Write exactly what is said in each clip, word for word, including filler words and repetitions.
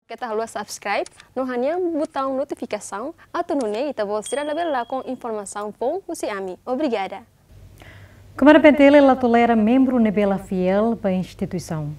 Keta haluha subscribe no hanehan butaun notifikasaun atu nune'e ita-boot sira labele lakon informasaun foun husi ami. Obrigada. Comando P N T L la tolera membru ne'ebé la fiél ba instituisaun.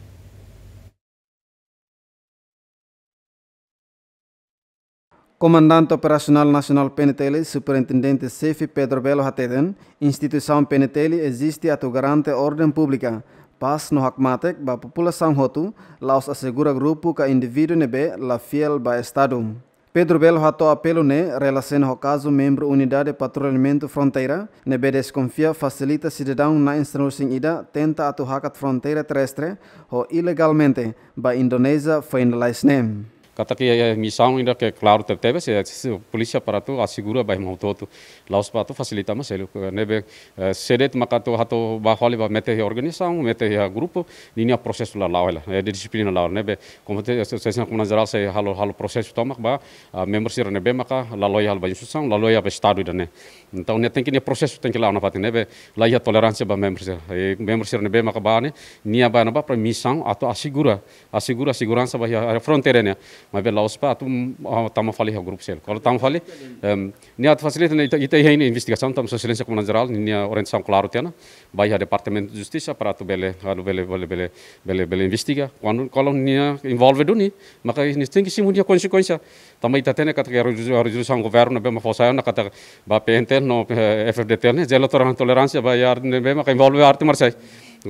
Komandante Operasionál Nasionál P N T L, Superintendente Xefe Pedro Belo hateten, instituisaun P N T L eziste atu garante orden públika, pás no hakmatek ba populasaun hotu, la'ós asegura grupu ka indivíduu ne'ebé la fiél ba Estadu. Pedro Belo hato'o apelu ne'e relasiona ho kazu membru Unidade Patrullamentu Fronteira ne'ebé deskonfia fasilita sidadaun na'in-sanulu-resin-ida tenta atu hakat fronteira terrestre ho ilegalmente ba Indonézia foin lalais ne'e. Katak iha, iha misaun ida ke klaru tebetebes, eh, si polísia para atu asegura ba ema hotu-hotu. La'ós ba atu fasilita mak seluk, eh, ne'ebé, eh, se de'it maka atu hato'o ba fali ba mete iha organizasaun, mete iha grupu, ninia prosesu la la'o hela, eh, de dixiplina la'o. Ne'ebé, komu te, se, se, se, Komandante Jerál sei halo, halo prosesu tomak ba, ah, membru sira ne'ebé maka la loial ba instituisaun, la loial ba Estadu ida-ne'e. Entaun, ne'e tenke, nia prosesu tenke la'o nafatin, ne'ebé la iha toleránsia ba membru sira. Eh, membru sira ne'ebé maka ba ne'e, nia ba ne'ebá para misaun atu asegura, asegura seguransa ba iha, iha fronteira ne'e. Maibé la'ós ba atu, mm, ah, tama fali iha grupu seluk. Kuandu tama fali, em, nia atu fasilita ne'e ita, ita iha ne'e investigasaun, tanba Sua Exelénsia Komandante Jerál, nia orientasaun klaru tiha ona, ba iha Departamentu Justisa para atu bele, atu bele, bele, bele, bele, bele investiga. Kuandu, kalau nia envolve duni, maka nia tenke simu nia konsekuénsia. Tanba ita hatene katak rezolu-, rezolusaun governu ne'ebé mak fó sai ona katak ba P N T L no, eh, F F D T L ne'e, zero toleran-, toleránsia ba iha arte ne'ebé maka envolve arte marsiais.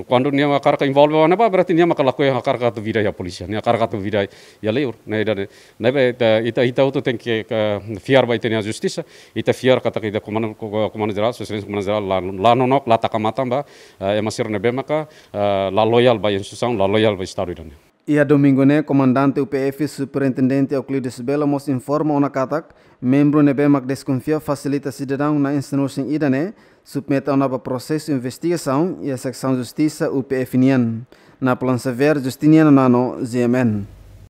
Kuandu nia hakarak envolve ona ba, berarti nia maka lakohi hakarak atu vida iha polísia, nia hakarak atu vida iha liur, ne'e ida-ne'e. Ne'ebé ita, ita, ita hotu tenke, ke, fiar ba ita-nia justisa, ita fiar katak ita Komandante, ko-, Komandante Jerál, Sua Exelénsia Komandante Jerál, la, la nonook, la taka matan ba, eh, ema sira ne'ebé maka, eh, la loial ba instituisaun, la loial ba Estadu ida-ne'e. Iha domingu ne'e, Komandante U P F, Superintendente Euclides Belo mós informa ona katak, membru ne'ebé mak deskonfia fasilita sidadaun na'in-sanulu-resin-ida ne'e, submete ona ba prosesu investigasaun iha Seksaun Justisa U P F nian. Napoleon Xavier, Justiniano Nano, G M N.